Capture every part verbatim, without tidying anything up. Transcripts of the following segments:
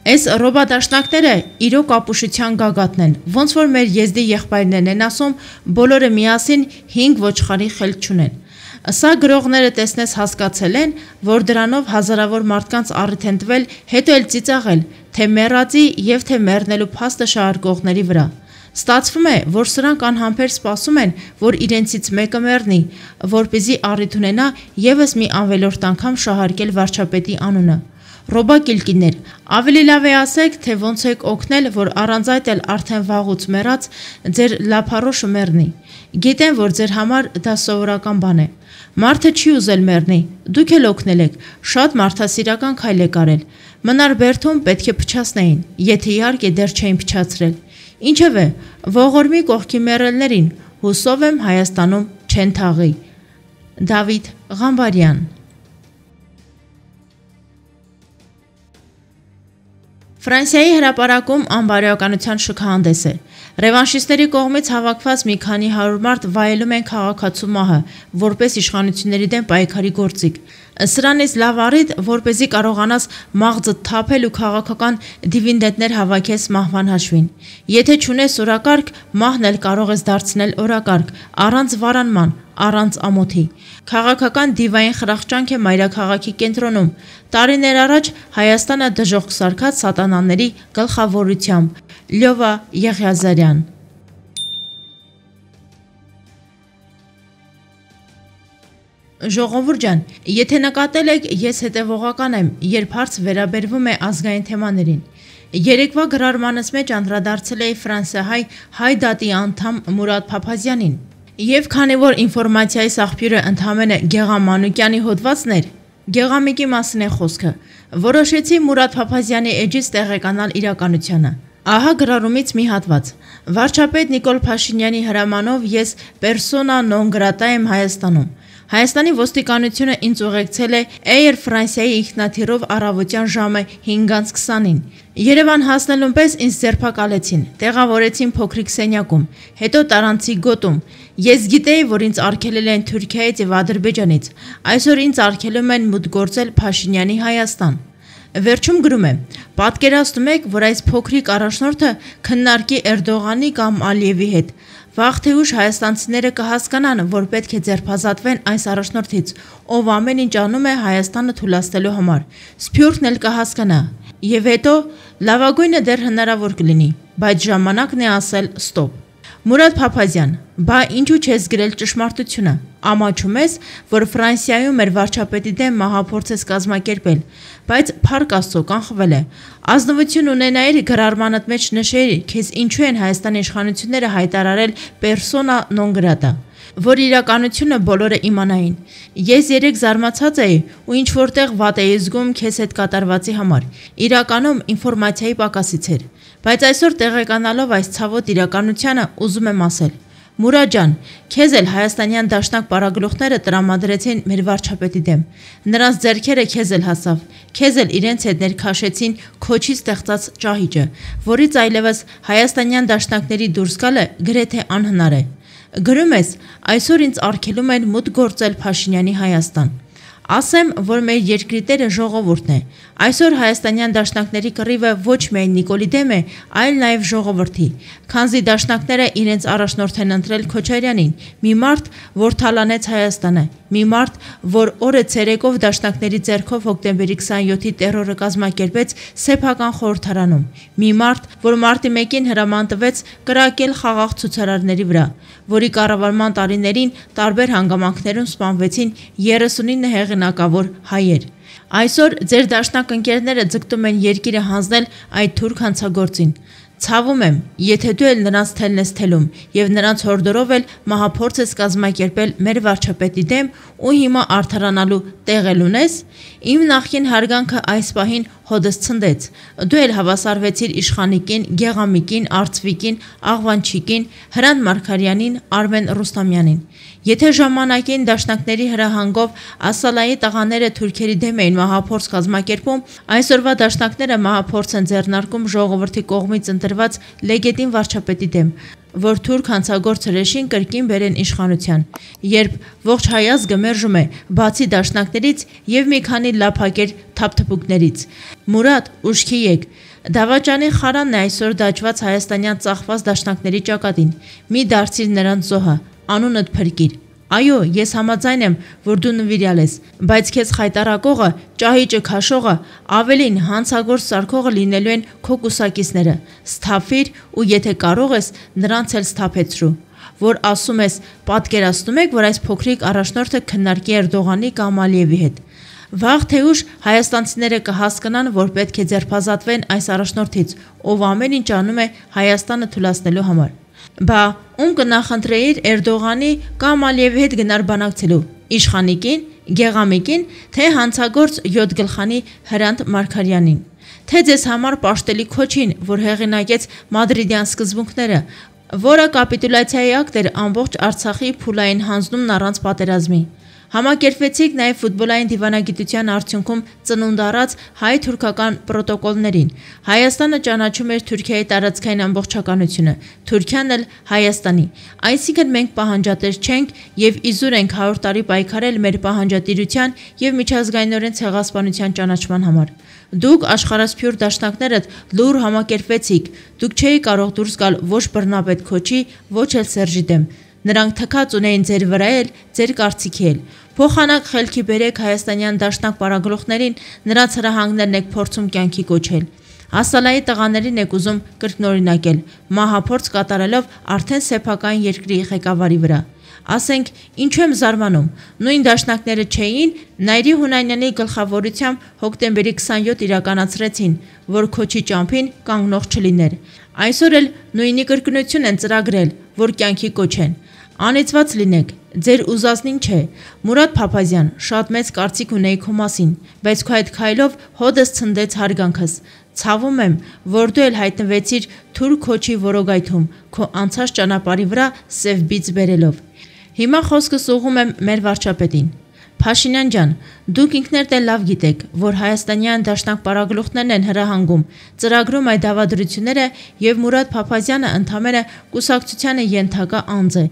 Այս ռոբադաշնակները իրոք ապուշության գագաթն են, ոնց որ մեր եզդի եղբայրներն են ասում, բոլորը միասին հինգ ոչխարի խելք չունեն։ Սա գրողները տեսնես հասկացել են, որ դրանով հազարավոր մարդկանց առիթ են տվել, հետո էլ ծիծաղել, թե մեռածի և թե մեռնելու փաստը շարարկողների վրա։ Ստացվում է, որ սրանք անհամբեր սպասում են, որ իրենցից մեկը մեռնի, որպեսզի առիթ ունենա ևս մի ավելորդ անգամ շահարկել վարչապետի անունը։ Ռոբակիլկիներ, ավելի լավ է ասեք, թե ոնց եք օգնել, որ առանց այդ էլ արդեն վաղուց մեռած ձեր լափառոշը մեռնի։ Գիտեմ, որ ձեր համար դա սովորական բան է։ Մարդը չի ուզել մեռնի, դուք էլ օգնել եք, շատ մարդասիրական քայլ եք արել։ Մնար բերդում պետք է փչացնեին, եթե իհարկե դեռ չէին փչացրել։ Ինչևէ, ողորմի կողքի մեռելներին, հուսով եմ Հայաստանում չեն թաղի։ Դավիթ Ղամբարյան։ Ֆրանսիայի հրապարակում անբարոյականության շքահանդես է։ Ռևանշիստների կողմից հավաքված մի քանի հարյուր մարդ վայելում են քաղաքացու մահը, որպես իշխանությունների դեմ պայքարի գործիք։ Սրանից լավ առիթ, որպեսզի կարողանաս մաղձդ թափել ու քաղաքական դիվիդենդներ հավաքես մահվան հաշվին։ Եթե չունես օրակարգ, մահն էլ կարող ես դարձնել օրակարգ, առանց վարանման, առանց ամոթի։ Քաղաքական դիվային խրախճանք է մայրաքաղաքի կենտրոնում։ Տարիներ առաջ Հայաստանը դժոխք սարքած սատանաների գլխավորությամբ։ Լյովա Եղիազարյան։ Ժողովուրդ ջան, եթե նկատել եք, ես հետևողական եմ, երբ հարց վերաբերվում է ազգային թեմաներին։ Երեկվա գրառմանս մեջ անդրադարձել էի ֆրանսիահայ հայ դատի անդամ Մուրադ Փափազյանին։ Եվ քանի որ ինֆորմացիայի աղբյուրը ընդամենը Գեղամ Մանուկյանի հոդվածն էր, Գեղամիկի մասին է խոսքը, որոշեցի Մուրադ Փափազյանի էջից տեղեկանալ իրականությանը։ Ահա գրառումից մի հատված։ Վարչապետ Նիկոլ Փաշինյանի հրամանով ես պերսոնա նոն գրատա եմ Հայաստանում։ Հայաստանի ոստիկանությունը ինձ ուղեկցել է Air Ֆրանսիայի ինքնաթիռով առավոտյան ժամը հինգից քսանին։ Երևան հասնելուն պես ինձ ձերբակալեցին, տեղավորեցին փոքրիկ սենյակում, հետո տարանցի գոտում։ Ես գիտեի, որ ինձ արգելել են Թուրքիայից և Ադրբեջանից, այսօր ինձ արգելում են մուտք գործել Փաշինյանի Հայաստան։ Վերջում գրում է. պատկերացնում եք, որ այս փոքրիկ առաջնորդը քննարկի Էրդողանի կամ Ալիևի հետ։ Վաղ թե ուշ հայաստանցիները կհասկանան, որ պետք է ձերբազատվեն այս առաջնորդից, ով ամեն ինչ անում է Հայաստանը թուլացնելու համար։ Սփյուռքն էլ կհասկանա։ Եվ հետո լավագույնը դեռ հնարավոր կլինի, բայց ժամանակն է ասել ստոպ։ Մուրադ Փափազյան, բա ինչու չես գրել ճշմարտությունը։ Ամաչում ես, որ Ֆրանսիայում մեր վարչապետի դեմ մահափորձ ես կազմակերպել, բայց փառք Աստծո կանխվել է։ Ազնվություն ունենայիր գրառմանդ մեջ նշեիր, քեզ ինչու են Հայաստանի իշխանությունները հայտարարել պերսոնա նոն գրատա, որ իրականությունը բոլորը իմանային։ Ես երեք զարմացած էի ու ինչ որտեղ վատ էի զգում քեզ հետ կատարվածի համար։ Իրականում ինֆորմացիայի պակասից էր, բայց այսօր տեղեկանալով այս ցավոտ իրականությանը ուզում եմ ասել. Մուրադ ջան, քեզ էլ հայաստանյան դաշնակ պարագլուխները տրամադրեցին մեր վարչապետի դեմ։ Նրանց ձեռքերը քեզ էլ հասավ, քեզ էլ իրենց հետ ներքաշեցին քոչի ստեղծած ճահիճը, որից այլևս հայաստանյան դաշնակների դուրս գալը գրեթե անհնար է։ Գրում ես, այսօր ինձ արգելում են մուտք գործել Փաշինյանի Հայաստան։ Ասեմ, որ մեր երկրի տերը ժողովուրդն է։ Այսօր հայաստանյան դաշնակների կռիվը ոչ միայն Նիկոլի դեմ է, այլ նաև ժողովրդի, քանզի դաշնակները իրենց առաջնորդ են ընտրել Քոչարյանին, մի մարդ, որ թալանեց Հայաստանը, մի մարդ, որ օրը ցերեկով դաշնակների ձեռքով հոկտեմբերի քսանյոթի տերորը կազմակերպեց սեփական խորհրդարանում, մի մարդ, որ մարտի մեկին հրաման տվեց կրակել խաղաղ ցուցարարների վրա, որի կառավարման տարիներին տարբեր հանգամանքներում սպանվեցին երեսունինը հեղինակավոր հայեր։ Այսօր ձեր դաշնակ ընկերները ձգտում են երկիրը հանձնել այդ թուրք հանցագործին։ Ցավում եմ, եթե դու էլ նրանց թելն ես թելում և նրանց հորդորով էլ մահափորձ ես կազմակերպել մեր վարչապետի դեմ ու հիմա արդարանալու տեղ էլ ունես, իմ նախկին հարգանքը այս պահին հոդս ցնդեց, դու էլ հավասարվեցիր իշխանիկին, Գեղամիկին, Արծվիկին, Աղվանչիկին, Հրանտ Մարգարյանին, Արմեն Ռուստամյանին։ Եթե ժամանակին դաշնակների հրահանգով Ասալայի տղաները թուրքերի դեմ էին մահափորձ կազմակերպում, այսօրվա դաշնակները մահափորձ են ձեռնարկում ժողովրդի կողմից ընտրված լեգիտիմ վարչապետի դեմ, որ թուրք հանցագործ հրեշին կրկին բերեն իշխանության, երբ ողջ հայ ազգը մերժում է, բացի դաշնակներից և մի քանի լափակեր թափթփուկներից։ Մուրադ, ուշքի եկ, Դավաճանի խարանն է այսօր դաջված հայաստանյան ծախված դաշնակների ճակատին։ Մի դարձիր նրանց զոհը, անունդ փրկիր։ Այո, ես համաձայն եմ, որ դու նվիրյալ ես, բայց քեզ խայտարակողը, ճահիճը քաշողը, ավելին հանցագործ սարքողը լինելու են քո կուսակիցները։ Սթափվիր ու եթե կարող ես, նրանց էլ սթափեցրու։ Որ ասում ես, պատկերացնում եք, որ այս փոքրիկ առաջնորդը քննարկի Էրդողանի կամ Ալիևի հետ։ Վաղ թե ուշ հայաստանցիները կհասկանան, որ պետք է ձերբազատվեն այս առաջնորդից, ով ամեն ինչ անում է Հայաստանը թուլացնելու համար։ Բա ում կնախընտրեիր Էրդողանի կամ Ալիևի հետ գնար բանակցելու, իշխանիկին, գեղամիկին, թե հանցագործ յոթ գլխանի Հրանտ Մարգարյանին, թե ձեզ համար պաշտելի քոչին, որ հեղինակեց Մադրիդյան սկզբունքները, որը կապիտուլյացիայի ակտ էր ամբողջ Արցախի փուլային հանձնումն առանց պատերազմի։ Համակերպվեցիք նաև ֆուտբոլային դիվանագիտության արդյունքում ծնունդ առած հայ-թուրքական պրոտոկոլներին։ Հայաստանը ճանաչում էր Թուրքիայի տարածքային ամբողջականությունը, Թուրքիան էլ Հայաստանի։ Այսինքն մենք պահանջատեր չենք եւ իզուր ենք հարյուր տարի պայքարել մեր պահանջատիրության եւ միջազգայինորեն ցեղասպանության ճանաչման համար։ Դուք աշխարհասփյուր դաշնակներդ լուր համակերպվեցիք։ Դուք չէի կարող դուրս գալ ոչ բռնապետ Քոչի, ոչ էլ Սերժի դեմ։ Նրանք թքած ունեին ձեր վրա էլ, ձեր կարծիքի էլ։ Փոխանակ խելքի բերեք հայաստանյան դաշնակ պարագլուխներին, նրանց հրահանգներն եք փորձում կյանքի կոչել։ Ասալայի տղաներին եք ուզում կրկնօրինակել, մահափորձ կատարելով արդեն սեփական երկրի ղեկավարի վրա։ Ասենք, ինչու եմ զարմանում, նույն դաշնակները չէին, Նայիրի Հունանյանի գլխավորությամբ հոկտեմբերի քսանյոթ իրականացրեցին, որ Քոչի ճամփին կանգնող չլիներ։ Այսօր էլ նույնի կրկնություն են ծրագրել, որ կյանքի կոչեն։ Անիծված լինեք, ձեր ուզածնին չէ։ Մուրադ Փափազյան, շատ մեծ կարծիք ունեի քո մասին, բայց քո այդ քայլով հոդս ցնդեց հարգանքս։ Ցավում եմ, որ դու էլ հայտնվեցիր Թուրք Քոչի որոգայթում, քո անցած ճանապարհի վրա սև բիծ բերելով։ Հիմա խոսքս ուղղում եմ մեր վարչապետին։ Փաշինյան ջան, դուք ինքներդ էլ լավ գիտեք, որ հայաստանյան դաշնակ պարագլուխներն են հրահանգում, ծրագրում այդ դավադրությունները եւ Մուրադ Փափազյանը ընդամենը կուսակցությանը ենթակա անձ է։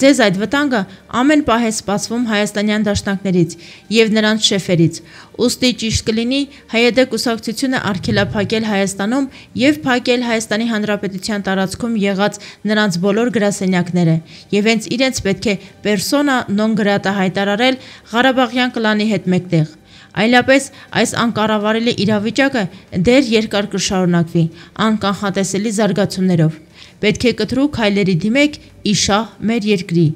Ձեզ այդ վտանգը ամեն պահ է սպասվում հայաստանյան դաշնակներից եւ նրանց շեֆերից։ Ուստի ճիշտ կլինի հայեդե կուսակցությունը արգելափակել Հայաստանում եւ փակել Հայաստանի Հանրապետության տարածքում եղած նրանց բոլոր գրասենյակները եւ հենց իրենց պետք է պերսոնա նոն գրատա հայտարարել Ղարաբաղյան կլանի հետ մեկտեղ։ Այլապես այս անկառավարելի իրավիճակը դեռ երկար կշարունակվի անկանխատեսելի զարգացումներով։ Պետք է կտրուկ քայլերի դիմեք իշահ մեր երկրի։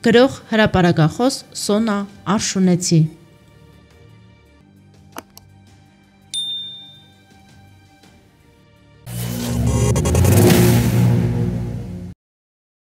Գրող հրապարակախոս Սոնա Արշունեցի։